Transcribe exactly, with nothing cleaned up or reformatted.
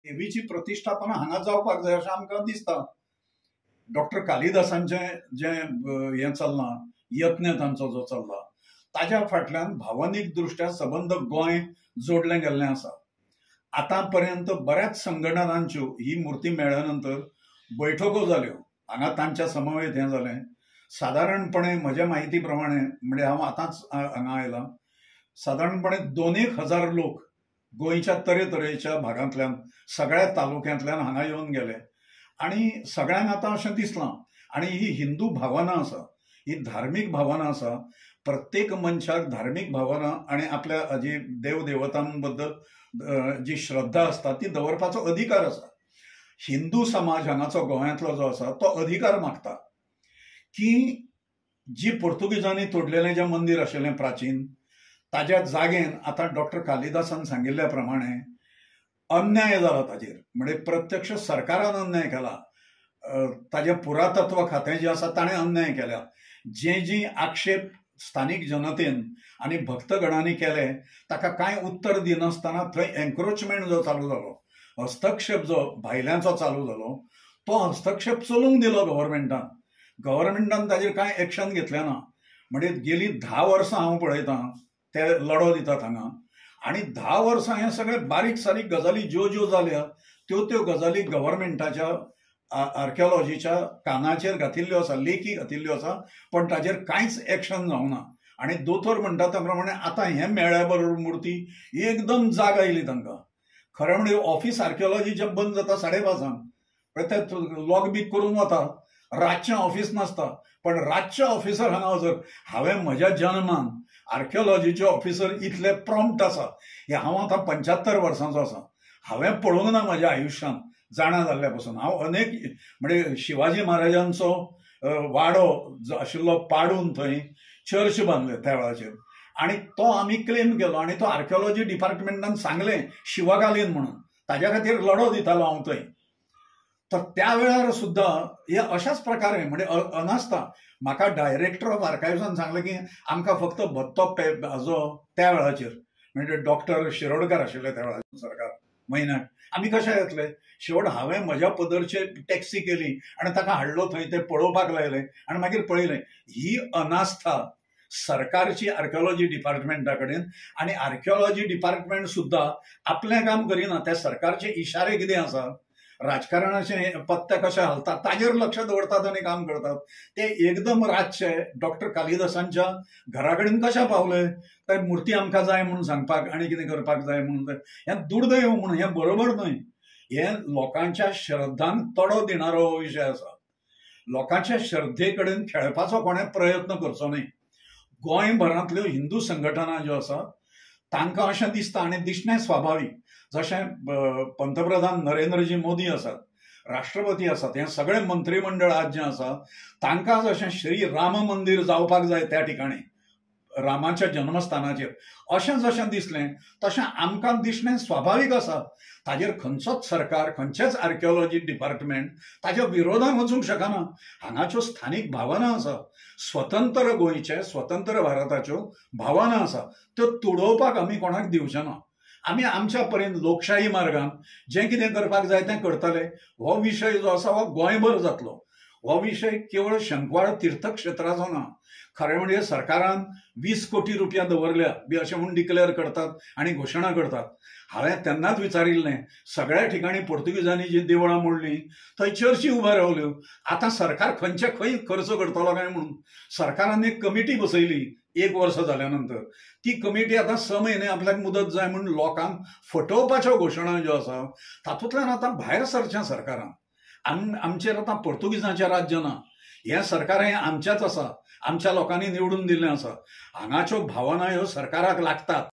देवीची प्रतिश्ठापना हांगा जावपाक जाय अशें आमकां दिसता. डॉक्टर कालिदासांचें जें हें चल्लां, यत्न तांचो जो चल्ला ताज्या फाटल्यान भावनीक दृश्ट्या सबंद गोंय जोडलें गेल्लें आसा. आतां पर्यंत बऱ्याच संघटनांच्यो ही मुर्ती मेळ्ळ्या नंतर बैठको जाल्यो, हांगा तांच्या समवेत हें जालें. सादारणपणे म्हज्या म्हायती प्रमाणे, म्हणजे हांव आतांच हांगा आयलां, सादारणपणे दोन एक हजार लोक गोंयच्या तरेतरेच्या भागांतल्यान सगळ्या तालुक्यांतल्यान हांगा येवन गेले आनी सगळ्यांक आतां अशें दिसलां. आनी ही हिंदू भावना आसा, ही धार्मीक भावना आसा. प्रत्येक मनशाक धार्मीक भावना आनी आपल्या जी देवदेवतां बद्दल जी श्रद्धा आसता ती दवरपाचो अधिकार आसा. हिंदू समाज हांगाचो गोंयांतलो जो आसा तो अधिकार मागता की जी पोर्तुगीजांनी तोडलेलें जें मंदीर आशिल्लें प्राचीन, ताज्या जागेन आतां डॉक्टर कालिदासान सांगिल्ल्या प्रमाणे अन्याय जाला ताजेर. म्हणजे प्रत्यक्ष सरकारान अन्याय केला, ताजें पुरातत्व खातें जें आसा ताणें अन्याय केला. जे जी आक्षेप स्थानीक जनतेन आनी भक्तगणांनी केले ताका कांय उत्तर दिनासतना थंय एन्क्रोचमेंट जो चालू जालो, हस्तक्षेप जो भायल्यांचो चालू जालो, तो हस्तक्षेप चलूंक दिलो गव्हर्मेंटान. गव्हर्मेंटान ताजेर कांय एक्शन घेतलें ना. म्हणजे गेली धा वर्सां हांव पळयतां ते लढो दितात हांगा, आनी धा वर्सां हे सगळे बारीक सारीक गजाली ज्यो ज्यो जाल्या त्यो त्यो गजाली गव्हर्मेंटाच्या आर्किओलॉजीच्या कानाचेर घातिल्ल्यो आसा, लेखी घातिल्ल्यो आसा, पण ताजेर कांयच एक्शन जावना. आनी दोतोर म्हणटा त्या प्रमाणे आतां हें मेळ्ळ्या बरोबर मुर्ती एकदम जाग आयली तांकां. खरें म्हणजे ऑफिस आर्किओलॉजीचें बंद जाता साडे पांचांक, ते लॉक बी करून वता, रातचें ऑफिस नासता. पण रातचे ऑफिसर हांगा वचर, हांवें म्हज्या जन्मान आर्किओलॉजीचे ऑफिसर इतले प्रॉम्प्ट आसा हे हांव आतां पंच्यात्तर वर्सांचो आसा, हांवें पळोवंक ना म्हज्या आयुश्यांत जाणा जाल्ल्या पासून. हांव अनेक म्हणजे शिवाजी महाराजांचो वाडो जो आशिल्लो पाडून थंय चर्च बांदले त्या वेळाचेर, आनी तो आमी क्लेम केलो आनी तो आर्किओलॉजी डिपार्टमेंटान सांगलें शिवकालीन म्हणून, ताज्या खातीर लढो दितालो हांव थंय. तर त्या वेळार सुद्दां हे अशाच प्रकारे म्हणजे अनास्था. म्हाका डायरेक्टर ऑफ आर्कायव्सान सांगलें की आमकां फक्त भत्तो पे हाजो त्या वेळाचेर, म्हणजे डॉक्टर शिरोडकर आशिल्ले त्या वेळाचेर सरकार, म्हयन्याक आमी कशे येतले. शेवट हांवें म्हज्या पदरचेर टॅक्सी केली आनी ताका हाडलो थंय, ते पळोवपाक लायलें आनी मागीर पळयलें. ही अनास्था सरकारची आर्किओलॉजी डिपार्टमेंटा कडेन, आनी आर्किओलॉजी डिपार्टमेंट सुद्दां आपलें काम करिना. त्या सरकारचे इशारे कितें आसा, राजकारणाचे पत्ते कशे हालतात ताजेर लक्ष दवरतात आनी काम करतात. ते एकदम रातचे डॉक्टर कालिदासांच्या घरा कडेन कशे पावले, ते मुर्ती आमकां जाय म्हणून सांगपाक आनी कितें करपाक जाय म्हणून, हें दुर्दैव म्हणून हें बरोबर न्हय. हें लोकांच्या श्रद्धांक तडो दिणारो हो विशय आसा. लोकांच्या श्रद्धे कडेन खेळपाचो कोणें प्रयत्न करचो न्हय. गोंयभरांतल्यो हिंदू संघटना ज्यो आसा तांकां अशें दिसता आनी दिसणें स्वाभावीक. जशें पंतप्रधान नरेंद्रजी मोदी आसात, राष्ट्रपती आसात, हें सगळें मंत्रीमंडळ आज जें आसा तांकां जशें श्री राम मंदीर जावपाक जाय त्या ठिकाणी रामाच्या जन्मस्थानाचेर अशें जशें दिसलें तशें आमकां दिसणें स्वाभावीक आसा. ताजेर खंयचोच सरकार, खंयचेच आर्किओलॉजी डिपार्टमेंट ताज्या विरोधान वचूंक शकना. हांगाच्यो स्थानीक भावना आसा, स्वतंत्र गोंयचे, स्वतंत्र भारताच्यो भावना आसा, त्यो तुडोवपाक आमी कोणाक दिवचे ना. आमी आमच्या परीन लोकशाही मार्गान जें कितें करपाक जाय तें करतले. हो विशय जो आसा हो गोंयभर जातलो. हो विशय केवळ शंकवाळ तीर्थक्षेत्राचो ना. खरें म्हणजे सरकारान वीस कोटी रुपया दवरल्या बी अशें म्हूण डिक्लेअर करतात आनी घोशणा करतात. हांवें तेन्नाच विचारिल्लें, सगळ्या ठिकाणी पोर्तुगीजांनी जी देवळां मोडलीं थंय चर्ची उब्यो रावल्यो, आतां सरकार खंयचे खंय खर्च करतलो काय म्हणून सरकारान एक कमिटी बसयली एक वर्स जाल्या नंतर. ती कमिटी आतां स म्हयने आपल्याक मुदत जाय म्हूण लोकांक फटोवपाच्यो घोशणा ज्यो आसा तातूंतल्यान आतां भायर सरचें सरकारान. आम आमचेर आतां पोर्तुगीजांचें राज्य ना, हें सरकार हें आमचेंच आसा, आमच्या लोकांनी निवडून दिल्लें आसा. हांगाच्यो भावना ह्यो सरकाराक लागतात.